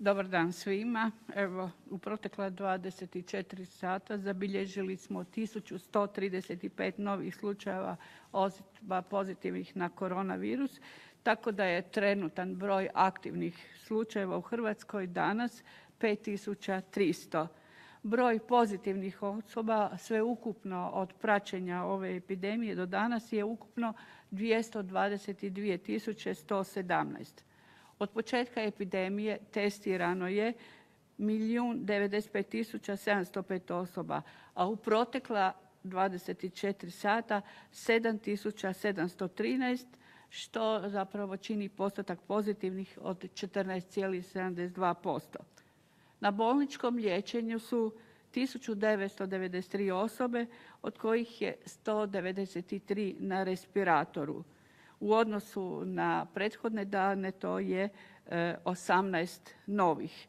Dobar dan svima. Evo, u protekla 24 sata zabilježili smo 1135 novih slučajeva osoba pozitivnih na koronavirus, tako da je trenutan broj aktivnih slučajeva u Hrvatskoj danas 5300. Broj pozitivnih osoba sveukupno od praćenja ove epidemije do danas je ukupno 222.117. Od početka epidemije testirano je 1.095.705 osoba, a u protekla 24 sata 7.713, što zapravo čini postotak pozitivnih od 14,72%. Na bolničkom liječenju su 1993 osobe, od kojih je 193 na respiratoru. U odnosu na prethodne dane to je 18 novih.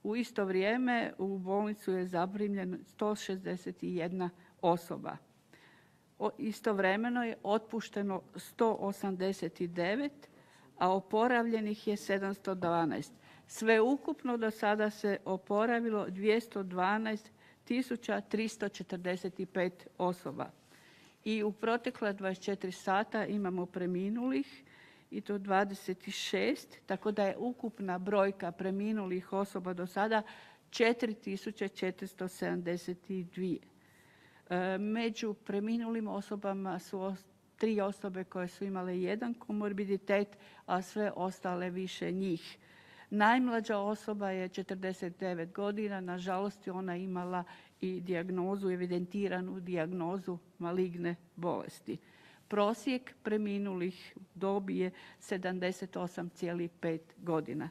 U isto vrijeme u bolnicu je zaprimljeno 161 osoba. Istovremeno je otpušteno 189, a oporavljenih je 712. Sveukupno do sada se oporavilo 212.345 osoba. I u protekla 24 sata imamo preminulih i to 26, tako da je ukupna brojka preminulih osoba do sada 4.472. Među preminulim osobama su 3 osobe koje su imale jedan komorbiditet, a sve ostale više njih. Najmlađa osoba je 49 godina, nažalost je ona imala i dijagnozu, evidentiranu dijagnozu maligne bolesti. Prosjek preminulih dobi je 78,5 godina.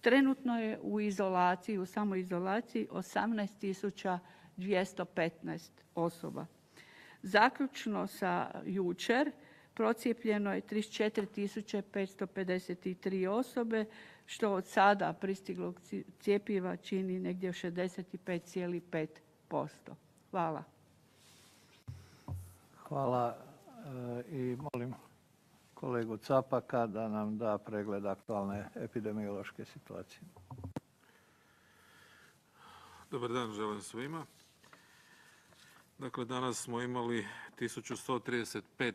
Trenutno je u izolaciji, u samoizolaciji 18.215 osoba. Zaključno sa jučer procijepljeno je 34.553 osobe, što od sada pristiglog cjepiva čini negdje 65,5%. Hvala. Hvala i molim kolegu Capaka da nam da pregled aktualne epidemiološke situacije. Dobar dan želim svima. Dakle, danas smo imali 1135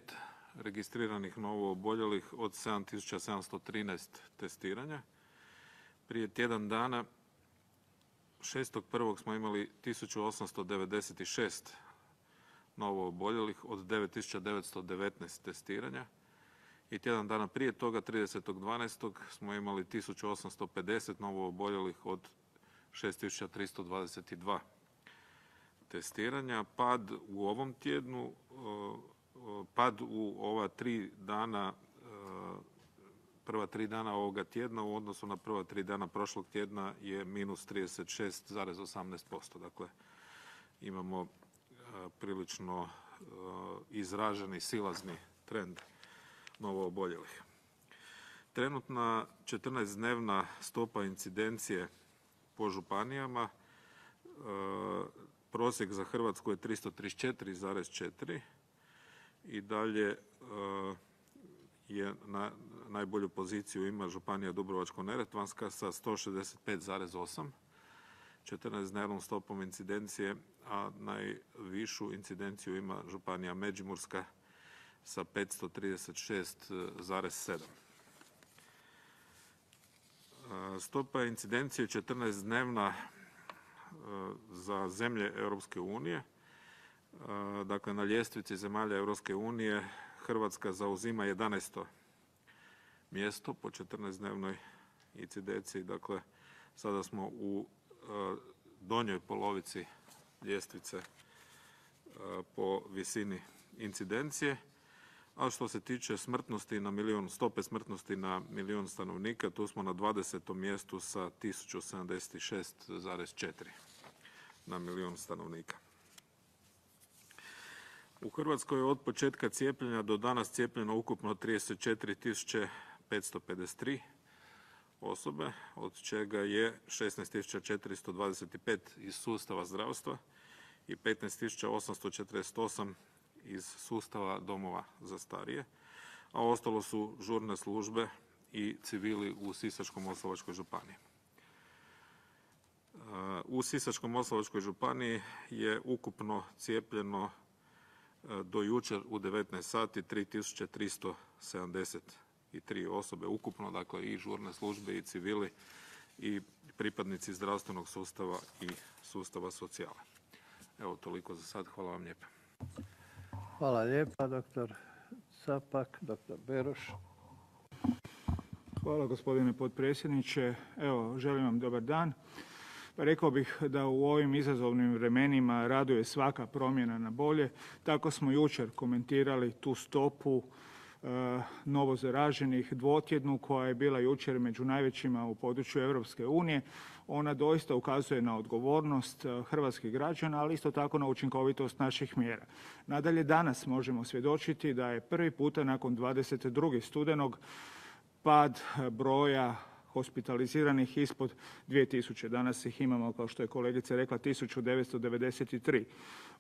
registriranih novooboljelih od 7713 testiranja. Prije tjedan dana, 6.1. smo imali 1896 novooboljelih od 9919 testiranja. I tjedan dana prije toga, 30.12. smo imali 1850 novooboljelih od 6322 testiranja. Pad u ovom tjednu, pad u ova 3 dana, prva 3 dana ovoga tjedna u odnosu na prva 3 dana prošlog tjedna je minus 36,18%. Dakle, imamo prilično izraženi silazni trend novooboljelih. Trenutna 14-dnevna stopa incidencije po županijama, prosjek za Hrvatsku je 334,4 i dalje je na najbolju poziciju ima županija Dubrovačko-neretvanska sa 165,8, 14-dnevnom stopom incidencije, a najvišu incidenciju ima županija Međimurska sa 536,7. Stopa incidencije 14-dnevna za zemlje Europske unije. Dakle, na ljestvici zemalja Europske unije Hrvatska zauzima 11. mjesto po 14-dnevnoj incidenciji. Dakle, sada smo u donjoj polovici ljestvice po visini incidencije. A što se tiče smrtnosti na milijun, stope smrtnosti na milijun stanovnika, tu smo na 20. mjestu sa 1076,4 na milijun stanovnika. U Hrvatskoj je od početka cijepljenja do danas cijepljeno ukupno 34.553 osobe, od čega je 16.425 iz sustava zdravstva i 15.848 iz sustava domova za starije, a ostalo su žurne službe i civili u Sisačko-moslavačkoj županiji. U Sisačko-moslavačkoj županiji je ukupno cijepljeno do jučer u 19 sati 3373 osobe ukupno, dakle i žurne službe i civili i pripadnici zdravstvenog sustava i sustava socijale. Evo toliko za sad. Hvala vam lijepa. Hvala lijepa, doktor Capak. Doktor Beroš. Hvala gospodine potpredsjedniče. Evo, želim vam dobar dan. Rekao bih da u ovim izazovnim vremenima raduje svaka promjena na bolje. Tako smo jučer komentirali tu stopu novozaraženih dvotjednu koja je bila jučer među najvećima u području Europske unije. Ona doista ukazuje na odgovornost hrvatskih građana, ali isto tako na učinkovitost naših mjera. Nadalje, danas možemo svjedočiti da je prvi puta nakon 22. studenog pad broja hospitaliziranih ispod 2000. Danas ih imamo, kao što je kolegica rekla, 1993.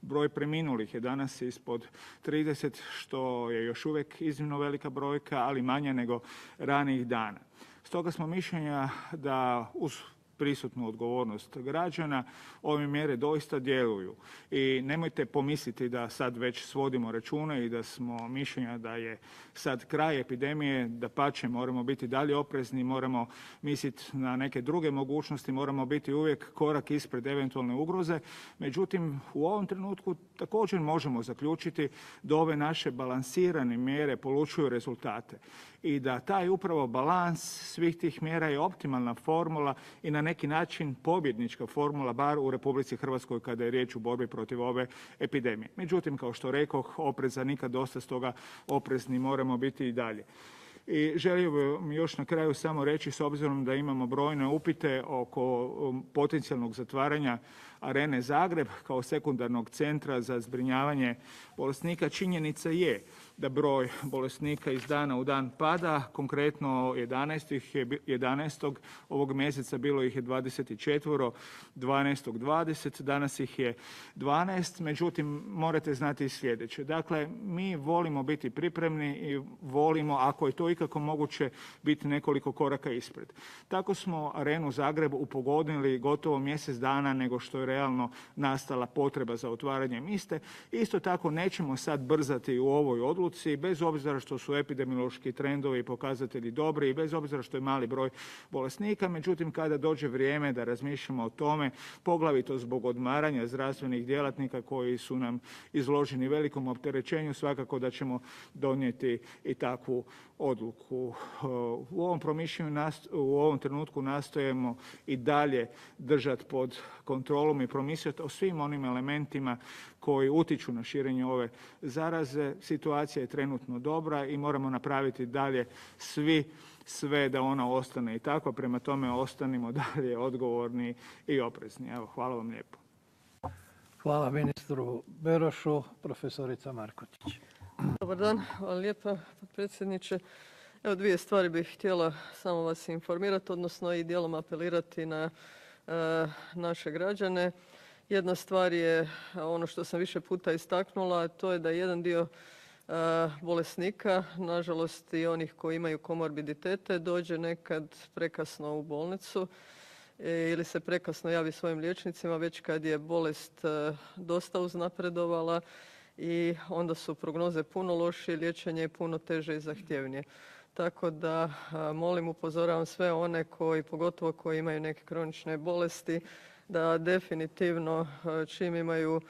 Broj preminulih je danas ispod 30, što je još uvijek iznimno velika brojka, ali manja nego ranijih dana. Stoga smo mišljenja da uz prisutnu odgovornost građana ove mjere doista djeluju. I nemojte pomisliti da sad već svodimo račune i da smo mišljenja da je sad kraj epidemije, dapače moramo biti dalje oprezni, moramo misliti na neke druge mogućnosti, moramo biti uvijek korak ispred eventualne ugroze. Međutim, u ovom trenutku također možemo zaključiti da ove naše balansirane mjere polučuju rezultate i da taj upravo balans svih tih mjera je optimalna formula i na neki način pobjednička formula, bar u Republici Hrvatskoj kada je riječ o borbi protiv ove epidemije. Međutim, kao što rekoh, opreza nikad dosta, stoga oprezni moramo biti i dalje. I želio bih još na kraju samo reći, s obzirom da imamo brojne upite oko potencijalnog zatvaranja Arene Zagreb kao sekundarnog centra za zbrinjavanje bolesnika, činjenica je da broj bolesnika iz dana u dan pada. Konkretno 11. ovog mjeseca bilo ih je 24, 12. 20, danas ih je 12. Međutim, morate znati i sljedeće. Dakle, mi volimo biti pripremni i volimo, ako je to ikako moguće, biti nekoliko koraka ispred. Tako smo Arenu Zagreb upogodili gotovo mjesec dana nego što je realno nastala potreba za otvaranjem iste. Isto tako nećemo sad brzati u ovoj odluci, bez obzira što su epidemiološki trendovi i pokazatelji dobri i bez obzira što je mali broj bolesnika. Međutim, kada dođe vrijeme da razmišljamo o tome, poglavito zbog odmaranja zdravstvenih djelatnika koji su nam izloženi velikom opterećenju, svakako da ćemo donijeti i takvu odluku. U ovom promišljanju, u ovom trenutku nastojimo i dalje držati pod kontrolom i promisliti o svim onim elementima koji utiču na širenje ove zaraze. Situacija je trenutno dobra i moramo napraviti dalje sve da ona ostane i tako. Prema tome ostanimo dalje odgovorni i oprezni. Evo, hvala vam lijepo. Hvala ministru Berošu. Profesorica Markotić. Dobar dan, hvala lijepa potpredsjedniče. Evo, dvije stvari bih htjela samo vas informirati, odnosno i dijelom apelirati na naše građane. Jedna stvar je ono što sam više puta istaknula, to je da jedan dio bolesnika, nažalost i onih koji imaju komorbiditete, dođe nekad prekasno u bolnicu ili se prekasno javi svojim liječnicima već kad je bolest dosta uznapredovala i onda su prognoze puno lošije, liječenje je puno teže i zahtjevnije. Tako da molim, upozoravam sve one koji, pogotovo koji imaju neke kronične bolesti, da definitivno čim imaju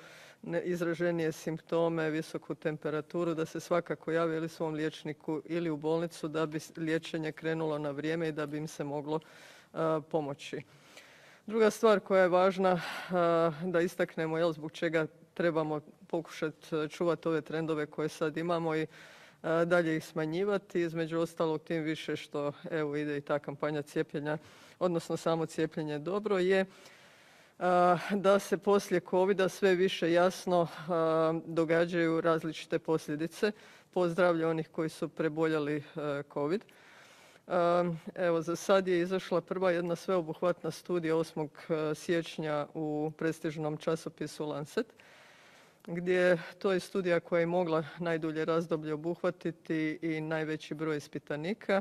izraženije simptome, visoku temperaturu, da se svakako jave ili svom liječniku ili u bolnicu da bi liječenje krenulo na vrijeme i da bi im se moglo pomoći. Druga stvar koja je važna da istaknemo, zbog čega trebamo pokušati čuvati ove trendove koje sad imamo i dalje ih smanjivati, između ostalog tim više što evo ide i ta kampanja cijepljenja, odnosno samo cijepljenje dobro je da se poslije covida sve više jasno događaju različite posljedice po zdravlje onih koji su preboljeli covid. Evo, za sad je izašla prva jedna sveobuhvatna studija 8. siječnja u prestižnom časopisu Lancet, gdje to je studija koja je mogla najdulje razdoblje obuhvatiti i najveći broj ispitanika.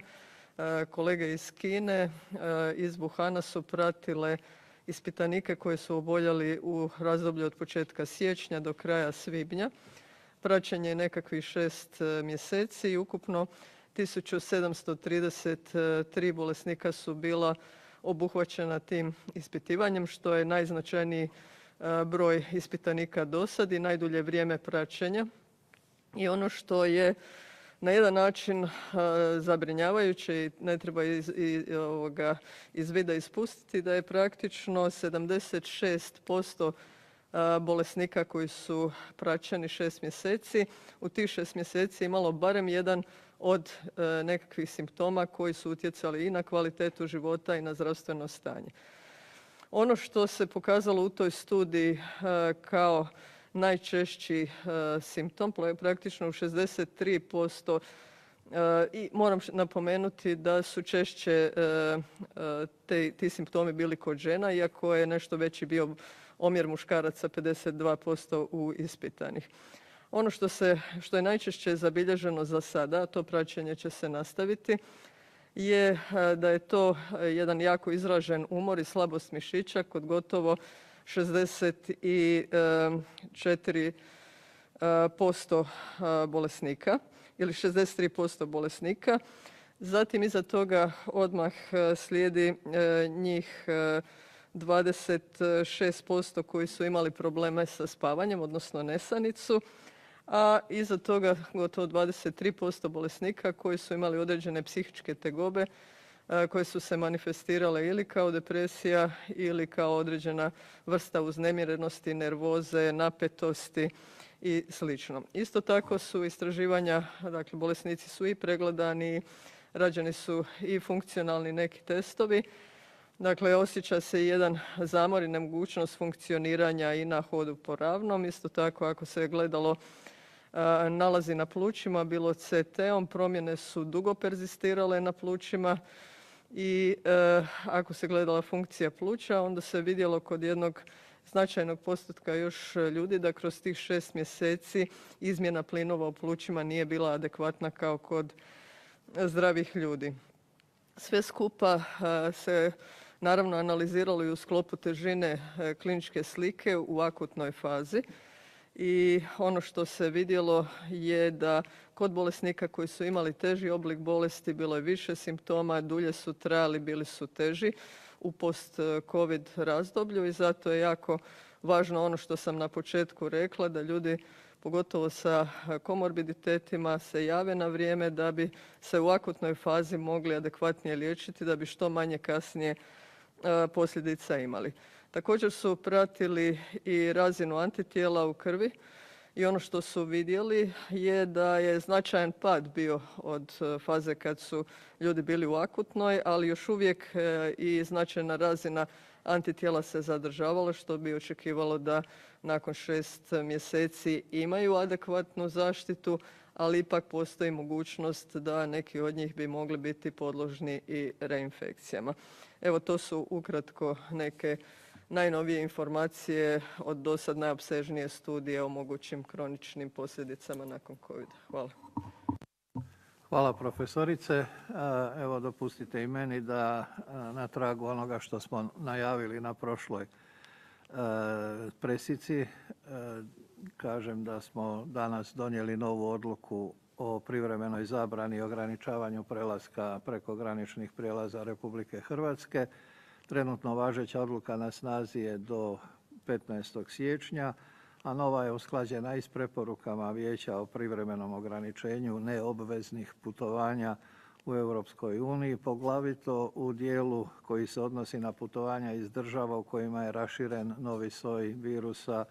Kolege iz Kine, iz Wuhana su pratile ispitanike koji su oboljeli u razdoblju od početka siječnja do kraja svibnja. Praćenje je nekakvih 6 mjeseci i ukupno 1733 bolesnika su bila obuhvaćena tim ispitivanjem, što je najznačajniji broj ispitanika do sad i najdulje vrijeme praćenja. I ono što je na jedan način zabrinjavajuće i ne treba iz vida ispustiti, da je praktično 76% bolesnika koji su praćeni 6 mjeseci, u tih 6 mjeseci imalo barem jedan od nekakvih simptoma koji su utjecali i na kvalitetu života i na zdravstveno stanje. Ono što se pokazalo u toj studiji kao najčešći simptom, praktično u 63%, i moram napomenuti da su češće ti simptomi bili kod žena, iako je nešto veći bio omjer muškaraca, 52% u ispitanih. Ono što je najčešće zabilježeno za sada, a to praćenje će se nastaviti, je da je to jedan jako izražen umor i slabost mišića kod gotovo 64% bolesnika ili 63% bolesnika. Zatim iza toga odmah slijedi njih 26% koji su imali probleme sa spavanjem, odnosno nesanicu, a iza toga gotovo 23% bolesnika koji su imali određene psihičke tegobe koje su se manifestirale ili kao depresija ili kao određena vrsta uznemirenosti, nervoze, napetosti i sl. Isto tako su istraživanja, dakle bolesnici su i pregledani, rađeni su i funkcionalni neki testovi. Dakle, osjeća se jedan zamor i nemogućnost funkcioniranja i na hodu po ravnom. Isto tako ako se je gledalo nalazi na plućima, bilo CT-om, promjene su dugo perzistirale na plućima i ako se gledala funkcija pluća, onda se vidjelo kod jednog značajnog postotka još ljudi da kroz tih 6 mjeseci izmjena plinova u plućima nije bila adekvatna kao kod zdravih ljudi. Sve skupa se naravno analiziralo i u sklopu težine kliničke slike u akutnoj fazi. I ono što se vidjelo je da kod bolesnika koji su imali teži oblik bolesti bilo je više simptoma, dulje su trajali, bili su teži u post-covid razdoblju i zato je jako važno ono što sam na početku rekla, da ljudi pogotovo sa komorbiditetima se jave na vrijeme da bi se u akutnoj fazi mogli adekvatnije liječiti, da bi što manje kasnije posljedica imali. Također su pratili i razinu antitijela u krvi i ono što su vidjeli je da je značajan pad bio od faze kad su ljudi bili u akutnoj, ali još uvijek i značajna razina antitijela se zadržavala, što bi očekivalo da nakon 6 mjeseci imaju adekvatnu zaštitu, ali ipak postoji mogućnost da neki od njih bi mogli biti podložni i reinfekcijama. Evo, to su ukratko neke najnovije informacije od dosad najopsežnije studije o mogućim kroničnim posljedicama nakon COVID. Hvala. Hvala profesorice. Evo dopustite i meni da na tragu onoga što smo najavili na prošloj presici kažem da smo danas donijeli novu odluku o privremenoj zabrani i ograničavanju prelaska prekograničnih prijelaza Republike Hrvatske. Trenutno važeća odluka na snazi je do 15. siječnja, a nova je usklađena i s preporukama Vijeća o privremenom ograničenju neobveznih putovanja u Europskoj uniji, poglavito u dijelu koji se odnosi na putovanja iz država u kojima je raširen novi soj virusa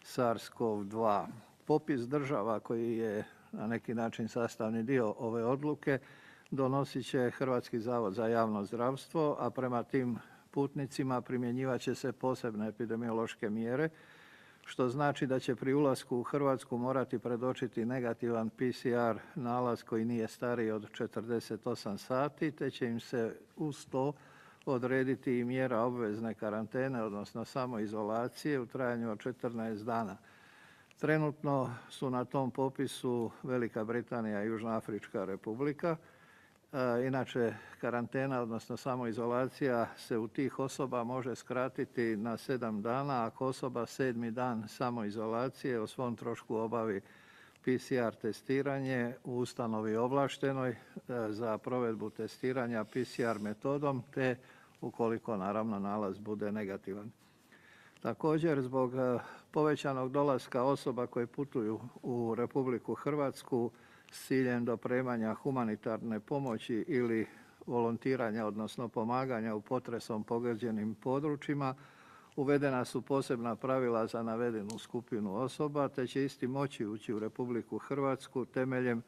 SARS-CoV-2. Popis država koji je na neki način sastavni dio ove odluke donosit će Hrvatski zavod za javno zdravstvo, a prema tim putnicima primjenjivat će se posebne epidemiološke mjere, što znači da će pri ulasku u Hrvatsku morati predočiti negativan PCR nalaz koji nije stariji od 48 sati, te će im se uz to odrediti i mjera obvezne karantene, odnosno samoizolacije u trajanju od 14 dana. Trenutno su na tom popisu Velika Britanija i Južnoafrička Republika Inače, karantena, odnosno samoizolacija se u tih osoba može skratiti na 7 dana ako osoba 7. dan samoizolacije o svom trošku obavi PCR testiranje u ustanovi ovlaštenoj za provedbu testiranja PCR metodom, te ukoliko naravno nalaz bude negativan. Također, zbog povećanog dolaska osoba koje putuju u Republiku Hrvatsku s ciljem dopremanja humanitarne pomoći ili volontiranja, odnosno pomaganja u potresom pogođenim područjima, uvedena su posebna pravila za navedenu skupinu osoba, te će isti moći ući u Republiku Hrvatsku temeljem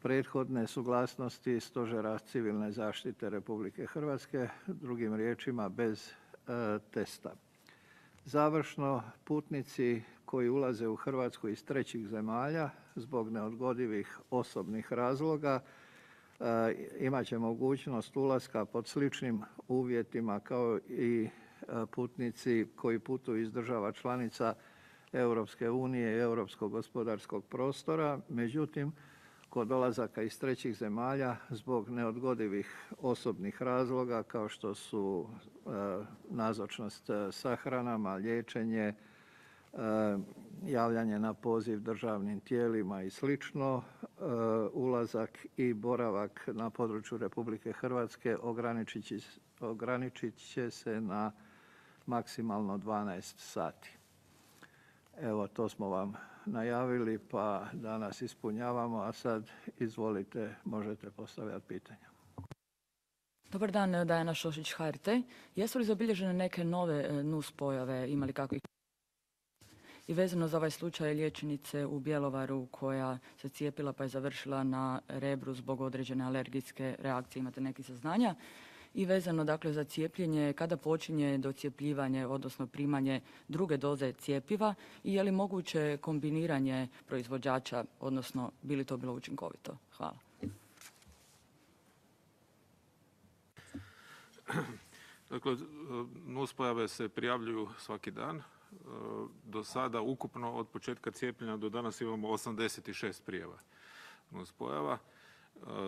prethodne suglasnosti Stožera civilne zaštite Republike Hrvatske, drugim riječima bez testa. Završno, putnici koji ulaze u Hrvatsku iz trećih zemalja zbog neodgodivih osobnih razloga imat će mogućnost ulaska pod sličnim uvjetima kao i putnici koji putuju iz država članica Europske unije i Europskog gospodarskog prostora. Međutim, kod dolazaka iz trećih zemalja zbog neodgodivih osobnih razloga kao što su nazočnost sahranama, liječenje, javljanje na poziv državnim tijelima i slično, ulazak i boravak na području Republike Hrvatske ograničit će se na maksimalno 12 sati. Evo, to smo vam najavili, pa danas ispunjavamo, a sad izvolite, možete postavljati pitanja. Dobar dan, Dajana Šošić, HRT. Jesu li zabilježene neke nove nuspojave, imali kakvih? I vezano za ovaj slučaj liječnice u Bjelovaru koja se cijepila pa je završila na Rebru zbog određene alergijske reakcije, imate neki saznanja? I vezano dakle za cijepljenje, kada počinje docijepljivanje, odnosno primanje druge doze cjepiva i je li moguće kombiniranje proizvođača, odnosno bi li to bilo učinkovito? Hvala. Dakle, nuspojave se prijavljuju svaki dan. Do sada ukupno od početka cijepljenja do danas imamo 86 prijava nuspojava.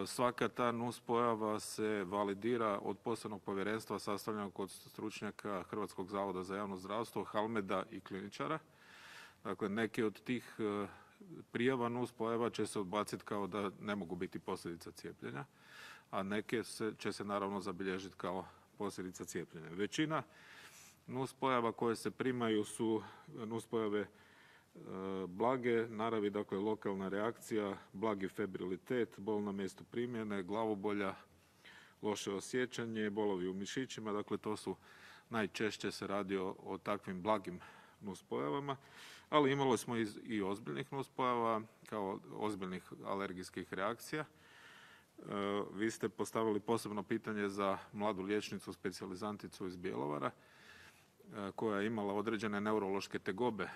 Svaka ta nuspojava se validira od posebnog povjerenstva sastavljenog od stručnjaka Hrvatskog zavoda za javno zdravstvo, Halmeda i kliničara. Dakle, neke od tih prijava nuspojava će se odbaciti kao da ne mogu biti posljedica cijepljenja, a neke će se naravno zabilježiti kao posljedica cijepljenja. Većina nuspojava koje se primaju su nuspojave blage naravi, dakle lokalna reakcija, blagi febrilitet, bol na mjestu primjene, glavobolja, loše osjećanje, bolovi u mišićima, dakle to su najčešće se radi o takvim blagim nuspojavama, ali imali smo i ozbiljnih nuspojava kao ozbiljnih alergijskih reakcija. Vi ste postavili posebno pitanje za mladu liječnicu, specijalizanticu iz Bjelovara koja je imala određene neurološke tegobe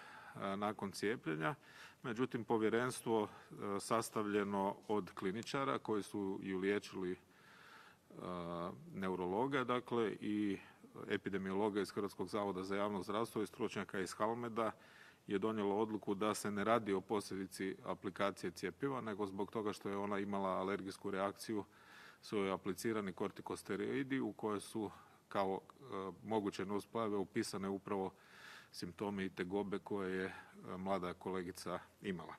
nakon cijepljenja. Međutim, povjerenstvo sastavljeno od kliničara koji su ju liječili neurologa, dakle i epidemiologa iz Hrvatskog zavoda za javno zdravstvo i stručnjaka iz Halmeda je donijelo odluku da se ne radi o posljedici aplikacije cjepiva, nego zbog toga što je ona imala alergijsku reakciju su joj aplicirani kortikosteroidi u koje su kao moguće nuspojave upisane upravo simptomi i tegobe koje je mlada kolegica imala.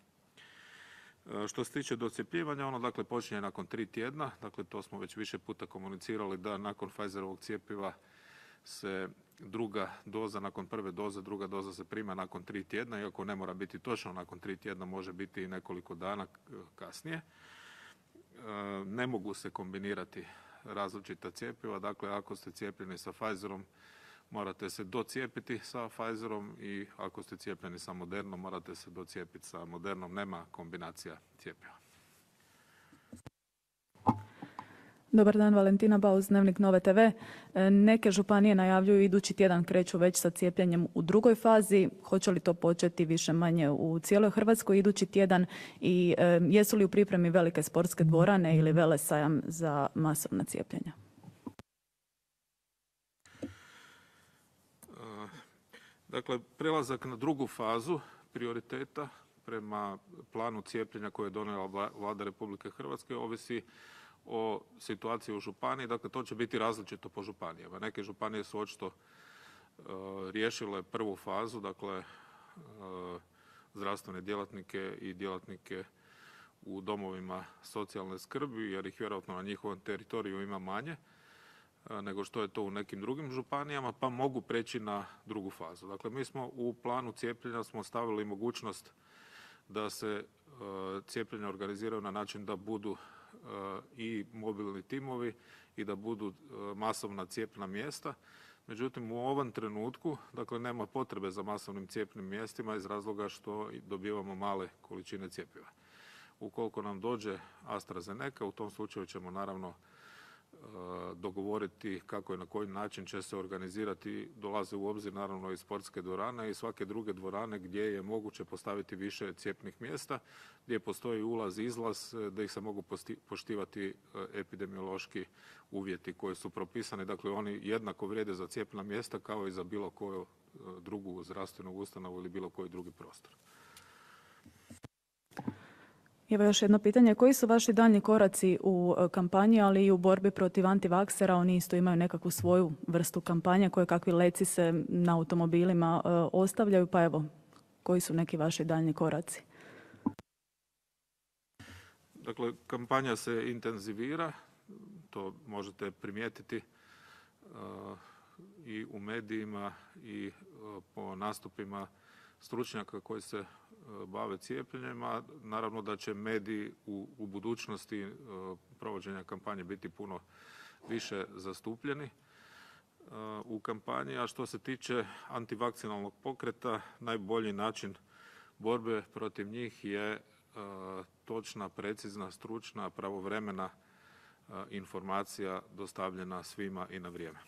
Što se tiče docjepljivanja, ono dakle počinje nakon 3 tjedna, dakle to smo već više puta komunicirali da nakon Pfizerovog cjepiva se druga doza, nakon prve doze, druga doza se prima nakon 3 tjedna, iako ne mora biti točno nakon 3 tjedna, može biti i nekoliko dana kasnije. Ne mogu se kombinirati različita cjepiva, dakle ako ste cijepljeni sa Pfizerom, morate se docijepiti sa Pfizerom i ako ste cijepljeni sa Modernom, morate se docijepiti sa Modernom, nema kombinacija cjepiva. Dobar dan, Valentina Bauz, Dnevnik Nove TV. Neke županije najavljuju idući tjedan kreću već sa cijepljenjem u drugoj fazi. Hoće li to početi više manje u cijeloj Hrvatskoj idući tjedan i jesu li u pripremi velike sportske dvorane ili velesajam za masovna cijepljenja? Dakle, prelazak na drugu fazu prioriteta prema planu cijepljenja koje je donijela Vlada Republike Hrvatske ovisi o situaciji u županiji. Dakle, to će biti različito po županijama. Neke županije su očito riješile prvu fazu, dakle, zdravstvene djelatnike i djelatnike u domovima socijalne skrbi, jer ih vjerojatno na njihovom teritoriju ima manje nego što je to u nekim drugim županijama, pa mogu preći na drugu fazu. Dakle, mi smo u planu cijepljenja smo stavili mogućnost da se cijepljenja organiziraju na način da budu i mobilni timovi i da budu masovna cijepna mjesta. Međutim, u ovom trenutku, dakle, nema potrebe za masovnim cijepnim mjestima iz razloga što dobivamo male količine cjepiva. Ukoliko nam dođe AstraZeneca, u tom slučaju ćemo naravno dogovoriti kako i na koji način će se organizirati. Dolaze u obzir naravno i sportske dvorane i svake druge dvorane gdje je moguće postaviti više cjepnih mjesta, gdje postoji ulaz i izlaz, da ih se mogu poštivati epidemiološki uvjeti koji su propisani. Dakle, oni jednako vrijede za cjepna mjesta kao i za bilo koju drugu zdravstvenu ustanovu ili bilo koji drugi prostor. Evo još jedno pitanje. Koji su vaši daljnji koraci u kampanji, ali i u borbi protiv antivaksera? Oni isto imaju nekakvu svoju vrstu kampanje, koje kakvi leci se na automobilima ostavljaju. Pa evo, koji su neki vaši daljnji koraci? Dakle, kampanja se intenzivira, to možete primijetiti i u medijima i po nastupima stručnjaka koji se bave cijepljenjem, a naravno da će mediji u budućnosti provođenja kampanje biti puno više zastupljeni u kampanji. A što se tiče antivakcinalnog pokreta, najbolji način borbe protiv njih je točna, precizna, stručna, pravovremena informacija dostavljena svima i na vrijeme.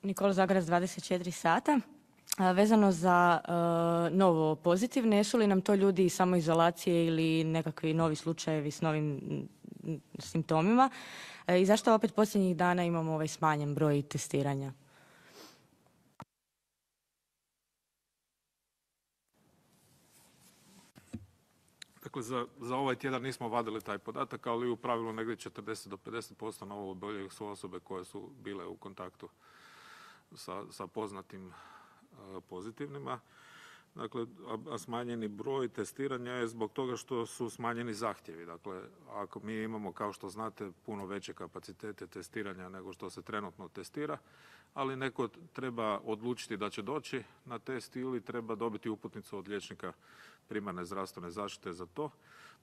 Nikola Zagarac, 24 sata. Vezano za novo pozitivne, jesu li nam to ljudi iz samoizolacije ili nekakvi novi slučajevi s novim simptomima? I zašto opet posljednjih dana imamo ovaj smanjen broj testiranja? Dakle, za ovaj tjedan nismo vadili taj podatak, ali u pravilu negdje 40 do 50% novooboljelih su osobe koje su bile u kontaktu sa poznatim pozitivnima. Dakle, a smanjeni broj testiranja je zbog toga što su smanjeni zahtjevi. Dakle, ako mi imamo, kao što znate, puno veće kapacitete testiranja nego što se trenutno testira, ali neko treba odlučiti da će doći na test ili treba dobiti uputnicu od liječnika primarne zdravstvene zaštite za to.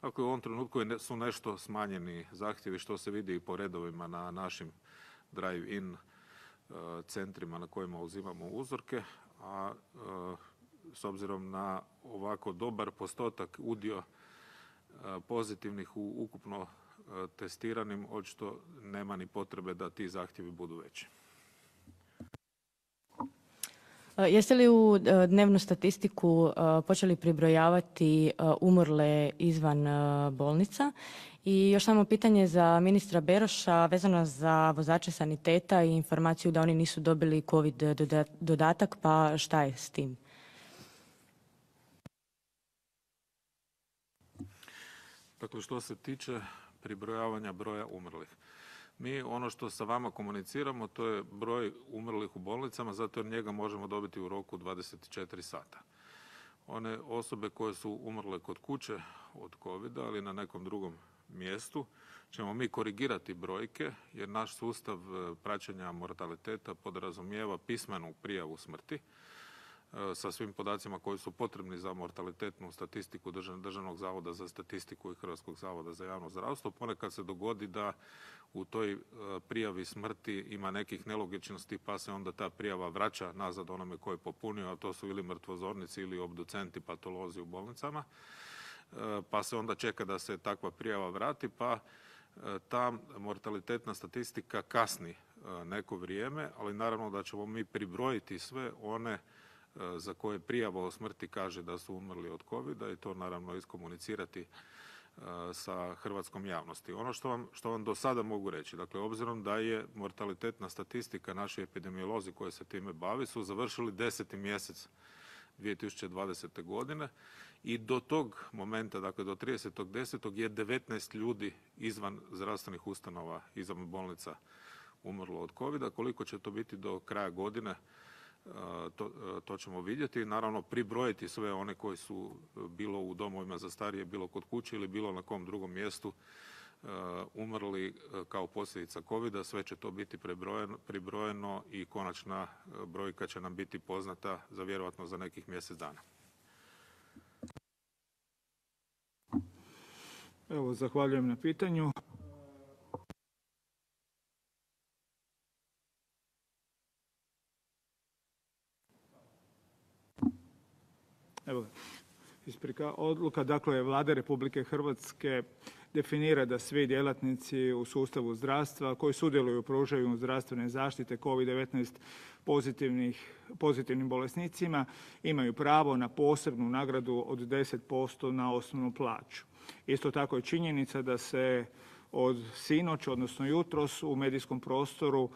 Dakle, u ovom trenutku su nešto smanjeni zahtjevi, što se vidi i po redovima na našim drive-in centrima na kojima uzimamo uzorke, a s obzirom na ovako dobar postotak, udio pozitivnih u ukupno testiranim, očito nema ni potrebe da ti zahtjevi budu veći. Jeste li u dnevnu statistiku počeli pribrojavati umrle izvan bolnica? I još samo pitanje za ministra Beroša vezano za vozače saniteta i informaciju da oni nisu dobili COVID dodatak, pa šta je s tim? Dakle, što se tiče pribrojavanja broja umrlih, mi ono što sa vama komuniciramo, to je broj umrlih u bolnicama, zato jer njega možemo dobiti u roku 24 sata. One osobe koje su umrle kod kuće od COVID-a ali na nekom drugom mjestu ćemo mi korigirati brojke, jer naš sustav praćenja mortaliteta podrazumijeva pismenu prijavu smrti sa svim podacima koji su potrebni za mortalitetnu statistiku Državnog zavoda za statistiku i Hrvatskog zavoda za javno zdravstvo. Ponekad se dogodi da u toj prijavi smrti ima nekih nelogičnosti, pa se onda ta prijava vraća nazad onome koji je popunio, a to su ili mrtvozornici ili obducenti, patolozi u bolnicama. Pa se onda čeka da se takva prijava vrati, pa ta mortalitetna statistika kasni neko vrijeme, ali naravno da ćemo mi pribrojiti sve one za koje prijava o smrti kaže da su umrli od COVID-a i to naravno iskomunicirati sa hrvatskom javnosti. Ono što vam do sada mogu reći, dakle, obzirom da je mortalitetna statistika, naši epidemiolozi koji se time bavi su završili 10. mjesec 2020. godine i do tog momenta, dakle do 30.10. je 19 ljudi izvan zdravstvenih ustanova, izvan bolnica umrlo od COVID-a. Koliko će to biti do kraja godine, to ćemo vidjeti. Naravno, pribrojiti sve one koji su bilo u domovima za starije, bilo kod kuće ili bilo na kom drugom mjestu umrli kao posljedica COVID-a. Sve će to biti pribrojeno i konačna brojka će nam biti poznata vjerojatno za nekih mjesec dana. Evo, zahvaljujem na pitanju. Evo, odluka, dakle, Vlade Republike Hrvatske definira da svi djelatnici u sustavu zdravstva koji sudjeluju u pružanju zdravstvene zaštite COVID-19 pozitivnim bolesnicima imaju pravo na posebnu nagradu od 10% na osnovnu plaću. Isto tako je činjenica da se od sinoć, odnosno jutros, u medijskom prostoru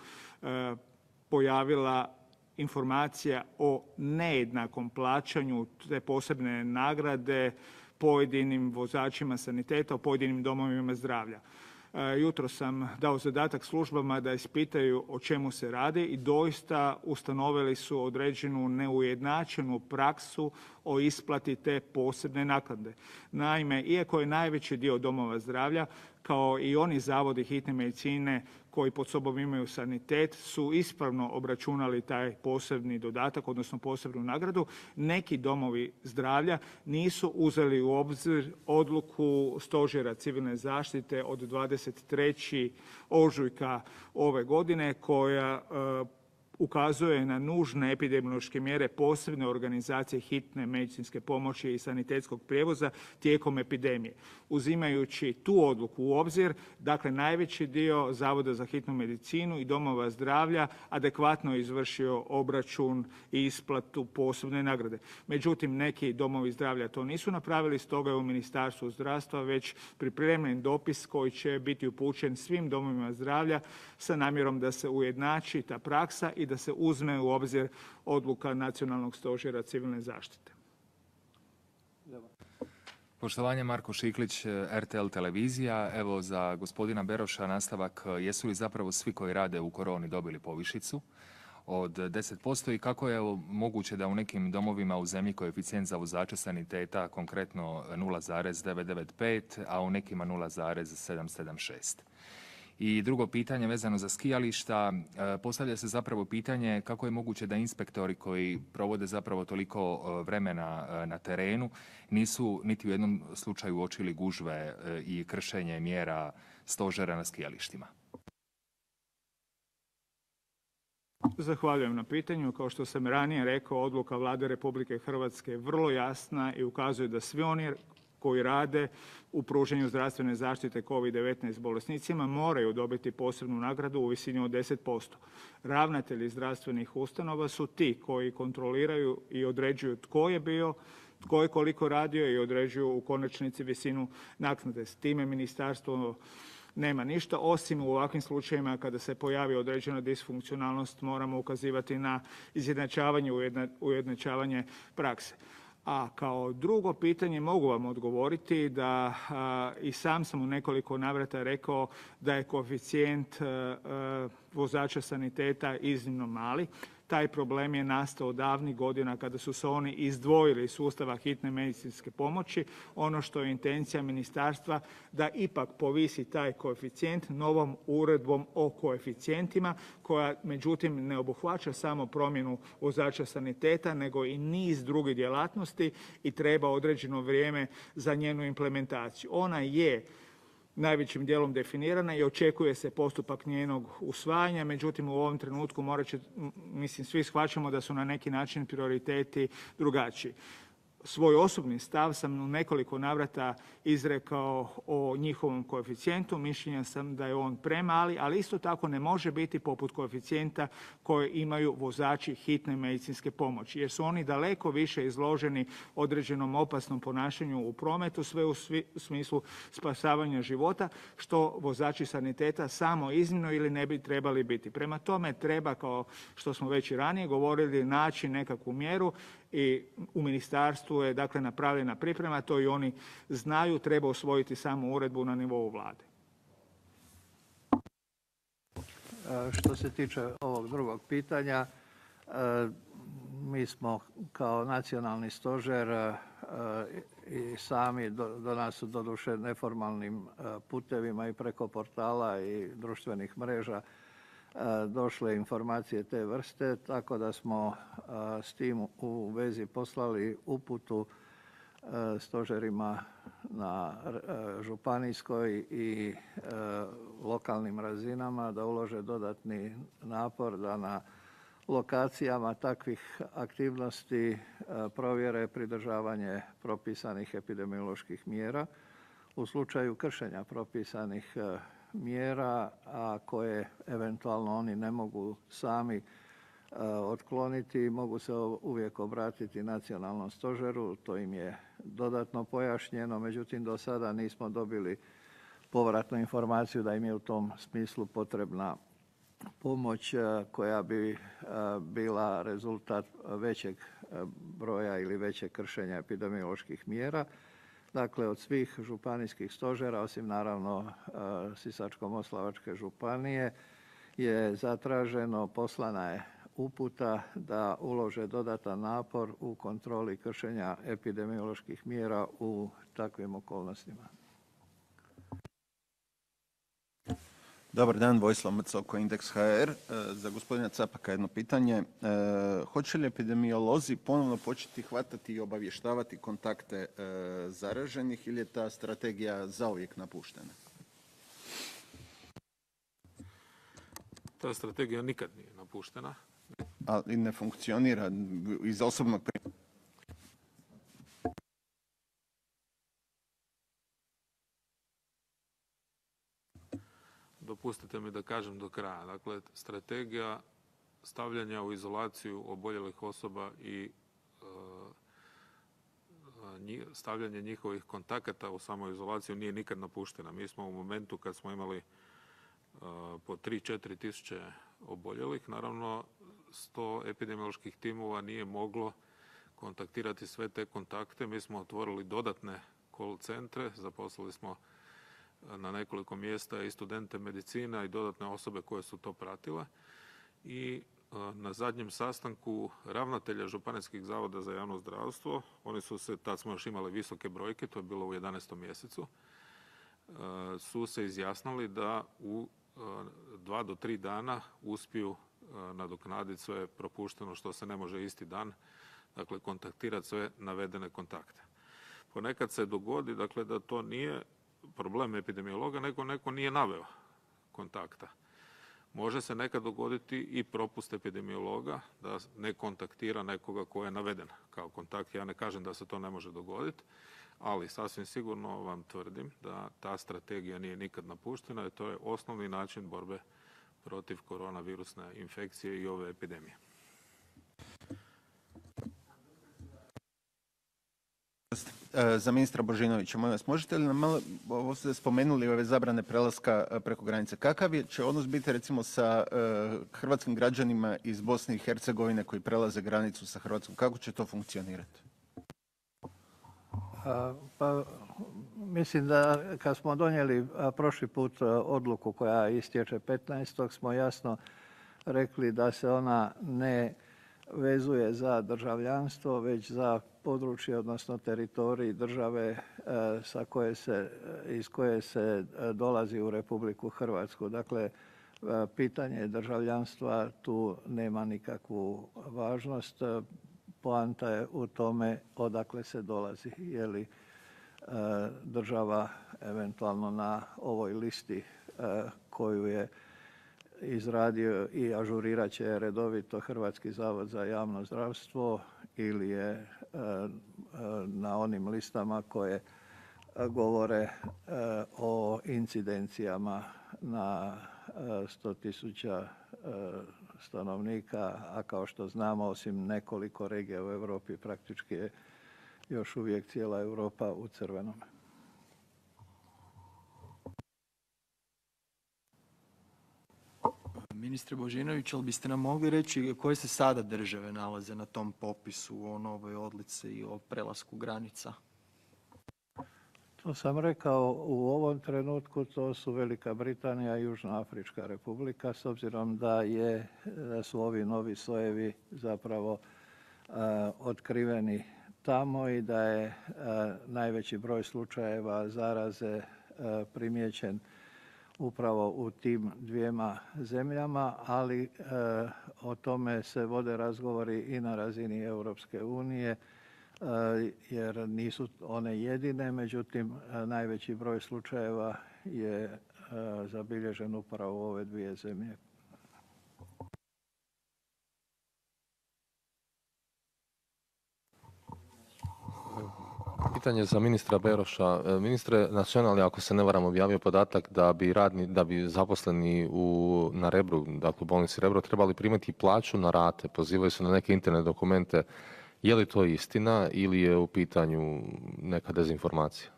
pojavila informacija o nejednakom plaćanju te posebne nagrade pojedinim vozačima saniteta u pojedinim domovima zdravlja. Jutro sam dao zadatak službama da ispitaju o čemu se radi i doista ustanovili su određenu neujednačenu praksu o isplati te posebne naknade. Naime, iako je najveći dio domova zdravlja, kao i oni zavodi hitne medicine koji pod sobom imaju sanitet, su ispravno obračunali taj posebni dodatak, odnosno posebnu nagradu. Neki domovi zdravlja nisu uzeli u obzir odluku Stožera civilne zaštite od 23. ožujka ove godine koja ukazuje na nužne epidemiološke mjere posebne organizacije hitne medicinske pomoći i sanitetskog prijevoza tijekom epidemije. Uzimajući tu odluku u obzir, dakle, najveći dio Zavoda za hitnu medicinu i domova zdravlja adekvatno je izvršio obračun i isplatu posebne nagrade. Međutim, neki domovi zdravlja to nisu napravili, stoga je u Ministarstvu zdravstva već pripremljen dopis koji će biti upućen svim domovima zdravlja sa namjerom da se ujednači ta praksa i da se uzme u obzir odluka Nacionalnog stožera civilne zaštite. Poštovanje, Marko Šiklić, RTL televizija. Evo, za gospodina Beroša nastavak, jesu li zapravo svi koji rade u koroni dobili povišicu od 10% i kako je moguće da u nekim domovima u zemlji koeficijent za vozače saniteta konkretno 0,995, a u nekima 0,776? I drugo pitanje vezano za skijališta, postavlja se zapravo pitanje kako je moguće da inspektori koji provode zapravo toliko vremena na terenu nisu niti u jednom slučaju uočili gužve i kršenje mjera stožera na skijalištima. Zahvaljujem na pitanju. Kao što sam ranije rekao, odluka Vlade Republike Hrvatske je vrlo jasna i ukazuje da svi oni koji rade u pružanju zdravstvene zaštite COVID-19 bolesnicima moraju dobiti posebnu nagradu u visini od 10%. Ravnatelji zdravstvenih ustanova su ti koji kontroliraju i određuju tko je bio, tko je koliko radio i određuju u konačnici visinu naknade. S time ministarstvo nema ništa, osim u ovakvim slučajevima kada se pojavi određena disfunkcionalnost moramo ukazivati na izjednačavanje, ujednačavanje prakse. A kao drugo pitanje mogu vam odgovoriti da i sam u nekoliko navrata rekao da je koeficijent vozača saniteta iznimno mali. Taj problem je nastao davnih godina kada su se oni izdvojili iz sustava hitne medicinske pomoći. Ono što je intencija ministarstva da ipak povisi taj koeficijent novom uredbom o koeficijentima koja međutim ne obuhvaća samo promjenu vozača saniteta nego i niz drugih djelatnosti i treba određeno vrijeme za njenu implementaciju. Ona je najvećim dijelom definirana i očekuje se postupak njenog usvajanja, međutim u ovom trenutku svi shvaćamo da su na neki način prioriteti drugačiji. Svoj osobni stav sam u nekoliko navrata izrekao o njihovom koeficijentu. Mišljenja sam da je on premali, ali isto tako ne može biti poput koeficijenta koje imaju vozači hitne medicinske pomoći, jer su oni daleko više izloženi određenom opasnom ponašanju u prometu, sve u smislu spasavanja života, što vozači saniteta samo iznimno ili ne bi trebali biti. Prema tome treba, kao što smo već i ranije govorili, naći nekakvu mjeru i u ministarstvu zdravstvu je dakle napravljena priprema, to i oni znaju, treba usvojiti samo uredbu na nivou vlade. Što se tiče ovog drugog pitanja, mi smo kao nacionalni stožer i sami do nas su doduše neformalnim putevima i preko portala i društvenih mreža došle informacije te vrste, tako da smo s tim u vezi poslali uputu stožerima na županijskoj i lokalnim razinama da ulože dodatni napor da na lokacijama takvih aktivnosti provjere pridržavanje propisanih epidemioloških mjera. U slučaju kršenja propisanih mjera, a koje eventualno oni ne mogu sami otkloniti, mogu se uvijek obratiti nacionalnom stožeru, to im je dodatno pojašnjeno, međutim do sada nismo dobili povratnu informaciju da im je u tom smislu potrebna pomoć koja bi bila rezultat većeg broja ili većeg kršenja epidemioloških mjera. Dakle, od svih županijskih stožera, osim naravno Sisačko-moslavačke županije, je zatraženo, poslana je uputa da ulože dodatan napor u kontroli kršenja epidemioloških mjera u takvim okolnostima. Dobar dan, Vojislav Macoko, Indeks HR. Za gospodina Capaka jedno pitanje. Hoće li epidemiolozi ponovno početi hvatati i obavještavati kontakte zaraženih ili je ta strategija zauvijek napuštena? Ta strategija nikad nije napuštena. Ali ne funkcionira iz osobnog primjera. Dopustite mi da kažem do kraja. Dakle, strategija stavljanja u izolaciju oboljelih osoba i stavljanje njihovih kontakata u samoizolaciju nije nikad napuštena. Mi smo u momentu kad smo imali po 3-4 tisuće oboljelih, naravno 100 epidemioloških timova nije moglo kontaktirati sve te kontakte. Mi smo otvorili dodatne call centre, zaposlili smo na nekoliko mjesta i studente medicina i dodatne osobe koje su to pratile. I na zadnjem sastanku ravnatelja županijskih zavoda za javno zdravstvo, oni su se, tad smo još imali visoke brojke, to je bilo u 11. mjesecu, su se izjasnili da u 2 do 3 dana uspiju nadoknaditi sve propušteno što se ne može isti dan, dakle kontaktirati sve navedene kontakte. Ponekad se dogodi, dakle, da to nije problem epidemiologa, nego neko nije naveo kontakta. Može se nekad dogoditi i propust epidemiologa da ne kontaktira nekoga ko je naveden kao kontakt. Ja ne kažem da se to ne može dogoditi, ali sasvim sigurno vam tvrdim da ta strategija nije nikad napuštena i to je osnovni način borbe protiv koronavirusne infekcije i ove epidemije. Za ministra Božinovića, molim vas, možete li nam malo, ovo ste spomenuli ove zabrane prelaska preko granice, kakav će odnos biti recimo sa hrvatskim građanima iz Bosne i Hercegovine koji prelaze granicu sa Hrvatskom, kako će to funkcionirati? Pa, mislim da kad smo donijeli prošli put odluku koja istječe 15. smo jasno rekli da se ona ne vezuje za državljanstvo, već za područje, odnosno teritorij države iz koje se dolazi u Republiku Hrvatsku. Dakle, pitanje državljanstva tu nema nikakvu važnost. Poanta je u tome odakle se dolazi. Je li država eventualno na ovoj listi koju je izradio i ažurirat će redovito Hrvatski zavod za javno zdravstvo ili je na onim listama koje govore o incidencijama na 100.000 stanovnika, a kao što znamo, osim nekoliko regija u Europi, praktički je još uvijek cijela Europa u crvenom. ministre Božinović, ali biste nam mogli reći koje se sada države nalaze na tom popisu o novoj odluci i o prelasku granica? To sam rekao, u ovom trenutku to su Velika Britanija i Južna Afrička Republika, s obzirom da su ovi novi sojevi zapravo otkriveni tamo i da je najveći broj slučajeva zaraze primijećen upravo u tim dvijema zemljama, ali o tome se vode razgovori i na razini Europske unije, jer nisu one jedine, međutim najveći broj slučajeva je zabilježen upravo u ove dvije zemlje. Pitanje za ministra Beroša. Ministre, Nacionalni, ako se ne varam, objavio podatak da bi zaposleni na Rebru, dakle u bolnici Rebro, trebali primati plaću na rate. Pozivaju se na neke interne dokumente. Je li to istina ili je u pitanju neka dezinformacija?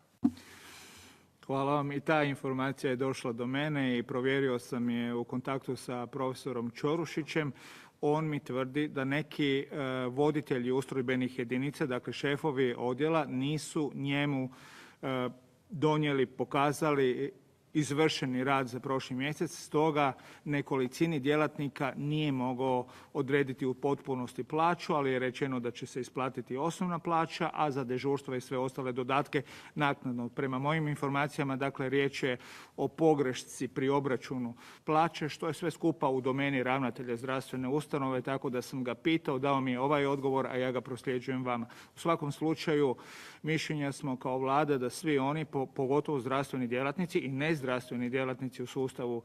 Hvala vam. I ta informacija je došla do mene i provjerio sam je u kontaktu sa profesorom Ćorušićem. On mi tvrdi da neki voditelji ustrojbenih jedinica, dakle šefovi odjela, nisu njemu donijeli, pokazali izvršeni rad za prošli mjesec, stoga nekolicini djelatnika nije mogao odrediti u potpunosti plaću, ali je rečeno da će se isplatiti osnovna plaća, a za dežurstva i sve ostale dodatke naknadno. Prema mojim informacijama, dakle, riječ je o pogrešci pri obračunu plaće, što je sve skupa u domeni ravnatelja zdravstvene ustanove, tako da sam ga pitao, dao mi je ovaj odgovor, a ja ga prosljeđujem vama. U svakom slučaju, mišljenja smo kao vlada da svi oni, pogotovo zdravstveni djelatnici i nezdravstveni djelatnici u sustavu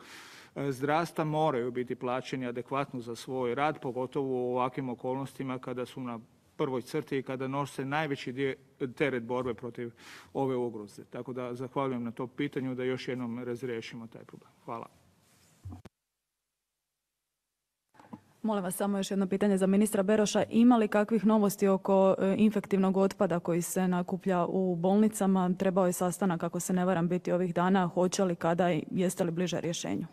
zdravstva, moraju biti plaćeni adekvatno za svoj rad, pogotovo u ovakvim okolnostima kada su na prvoj crti i kada nose najveći teret borbe protiv ove ugroze. Tako da zahvaljujem na tom pitanju da još jednom razriješimo taj problem. Hvala. Molim vas samo još jedno pitanje za ministra Beroša. Ima li kakvih novosti oko infektivnog otpada koji se nakuplja u bolnicama? Trebao je sastanak, ako se ne varam, biti ovih dana. Hoće li, kada i jeste li bliže rješenju?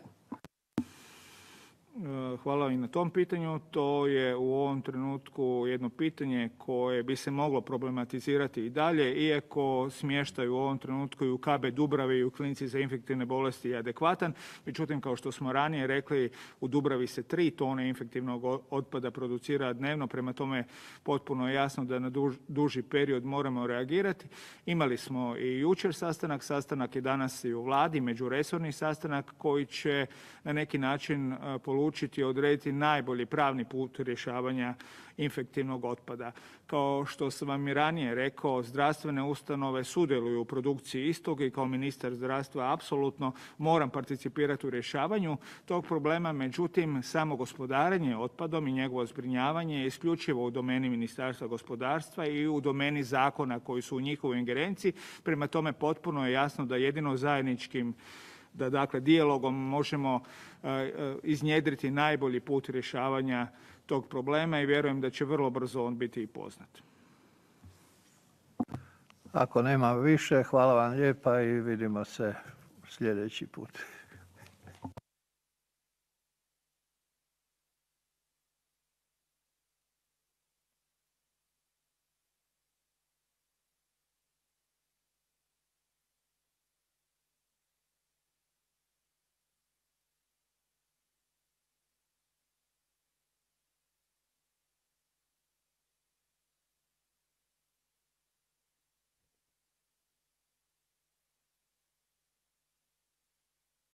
Hvala i na tom pitanju. To je u ovom trenutku jedno pitanje koje bi se moglo problematizirati i dalje, iako smještaj u ovom trenutku i u KB Dubravi i u klinici za infektivne bolesti je adekvatan. Međutim, kao što smo ranije rekli, u Dubravi se 3 tone infektivnog otpada producira dnevno, prema tome potpuno je jasno da na duži period moramo reagirati. Imali smo i jučer sastanak je danas i u vladi, međuresorni sastanak koji će na neki način polučiti i odrediti najbolji pravni put rješavanja infektivnog otpada. Kao što sam vam i ranije rekao, zdravstvene ustanove sudjeluju u produkciji istog i kao ministar zdravstva apsolutno moram participirati u rješavanju tog problema. Međutim, samo gospodarenje otpadom i njegovo zbrinjavanje je isključivo u domeni Ministarstva gospodarstva i u domeni zakona koji su u njihovoj ingerenciji. Prema tome, potpuno je jasno da jedino zajedničkim dakle dijalogom možemo iznjedriti najbolji put rješavanja tog problema i vjerujem da će vrlo brzo on biti i poznat. Ako nema više, hvala vam lijepa i vidimo se sljedeći put.